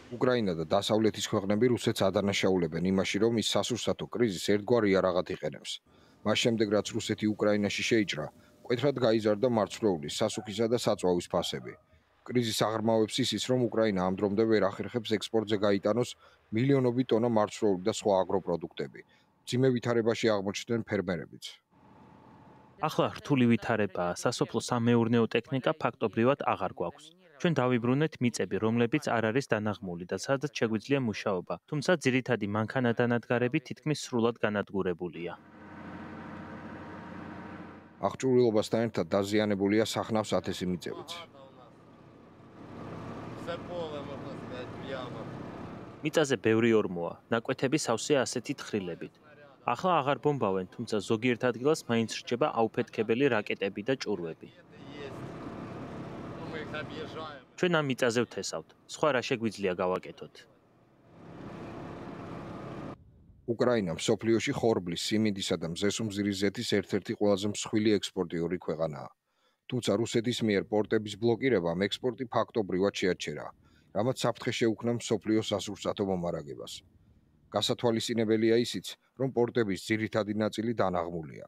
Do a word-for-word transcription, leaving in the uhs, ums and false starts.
უკრაინა და დასავლეთის ქვეყნები რუსეთს ადანაშაულებენ იმაში, რომ ის სასურსათო კრიზისს ერთგვარ იარაღად იყენებს. მას შემდეგ, რაც რუსეთი უკრაინაში შეიჭრა, მკვეთრად გაიზარდა მარცვლეულის, სასუქისა და საწვავის ფასები. კრიზისს აღრმავებს ისიც, რომ უკრაინა ამ დრომდე ვერ ახერხებს ექსპორტზე გაიტანოს მილიონობით ტონა მარცვლეული და სხვა აგროპროდუქტები. მძიმე ვითარებაში აღმოჩნდნენ ფერმერებიც. ახლა რთული ვითარებაა, სასოფლო სამეურნეო ტექნიკა ფაქტობრივად აღარ გვაქვს. ჩვენ დავიბრუნეთ მიწები, რომლებიც არ არის დანაღმული და სადაც შეგვიძლია მუშაობა, თუმცა ძირითადი მანქანა-დანადგარები თითქმის სრულად განადგურებულია. აღჭურვილობასთან ერთად დაზიანებულია სახნავს ათასი მიწებიც. მიწაზე ბევრი ორმოა, ნაკვეთები სავსეა ასეთი თხრილებით. ახლა აღარ ბომბავენ, თუმცა ზოგიერთ ადგილას მაინც რჩება აუფეთქებელი რაკეტები და ჭურვები. ჩვენ ამ მიწაზე ვთესავთ, სხვა რა შეგვიძლია გავაკეთოთ? უკრაინა მსოფლიოში ხორბლის, სიმინდისა და მზესუმზირის ზეთის ერთ-ერთი ყველაზე მსხვილი ექსპორტიორი ქვეყანაა. თუმცა რუსეთის მიერ პორტების ბლოკირებამ ექსპორტი ფაქტობრივად შეაჩერა, რამაც საფრთხე შეუქმნა მსოფლიოს სასურსათო მომარაგებას. გასათვალისწინებელია ისიც, რომ პორტების ძირითადი ნაწილი დანაღმულია.